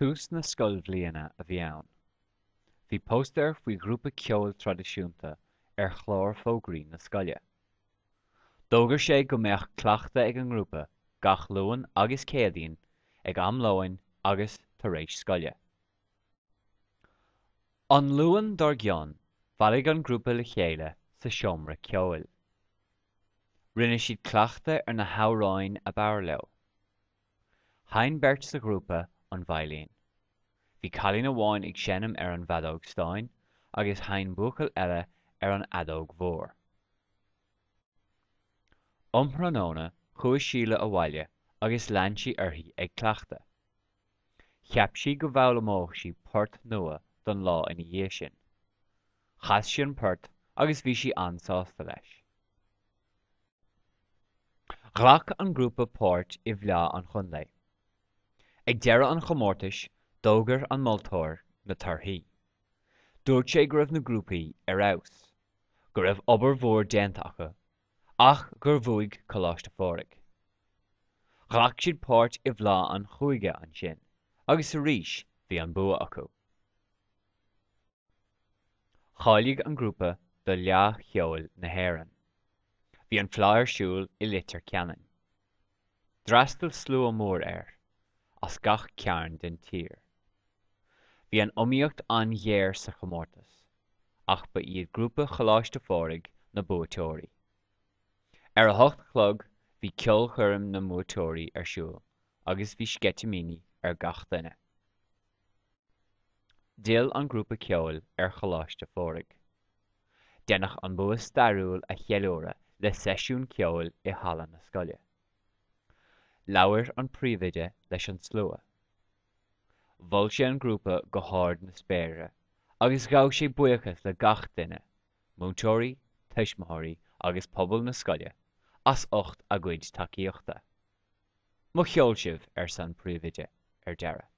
Tús na scoilbhliana a bhí ann. Bhí póstaer faoi ghrúpa ceoil traidisiúnta ar chlár fógraí na scoile. D'fhógair sé go mbeadh cleachtadh ag an ngrúpa gach Luan agus Céadaoin ag am lóin agus tar éis scoile. An Luan dár gcionn, bhailigh an grúpa le chéile sa seomra ceoil. Rinne siad cleachtadh ar na hamhráin ab fhearr leo. Sheinn beirt sa ghrúpa an veidhlín. Bhí cailín amháin ag seinm ar an bhfeadóg stáin agus sheinn buachaill eile ar an fheadóg mhór. Um thráthnóna chuaigh Síle abhaile agus lean sí uirthi ag cleachtadh. Cheap sí go bhfoghlaimeodh sí port nua don lá ina dhiaidh sin. Chas sí an port agus bhí sí an-sásta leis. Ghlac an grúpa páirt i bhFleá an Chontae. Ag deireadh an chomórtais, d'fhógair an moltóir na torthaí. Dúirt sé go raibh na grúpaí ar fheabhas, go raibh obair mhór déanta acu, ach gur bhuaigh Coláiste Phádraig. Ghlac siad páirt i bhFleá an Chúige ansin, agus arís bhí an bua acu. Cháiligh an grúpa do Fhleá Cheoil na hÉireann. Bhí an fleá ar siúl i Leitir Ceanainn. D'fhreastail slua mór air, as gach cearn den tír. Bhí an iomaíocht an-ghéar sa chomórtas, ach ba iad grúpa Choláiste Phádraig na buaiteoirí. Ar a hocht a chlog bhí ceolchoirm na mbuaiteoirí ar siúl agus bhí sceitimíní ar gach duine. D'fhill an grúpa ceoil ar Choláiste Phádraig. Deineadh an bua stairiúil a cheiliúradh le seisiún ceoil i halla na scoile. Labhair an príomhoide leis an slua. Mhol sé an grúpa go hard na spéire agus ghabh sé buíochas le gach duine, múinteoirí, tuismitheoirí agus pobal na scoile, as ucht a gcuid tacaíochta. Mo cheol sibh, arsa an príomhoide ar deireadh.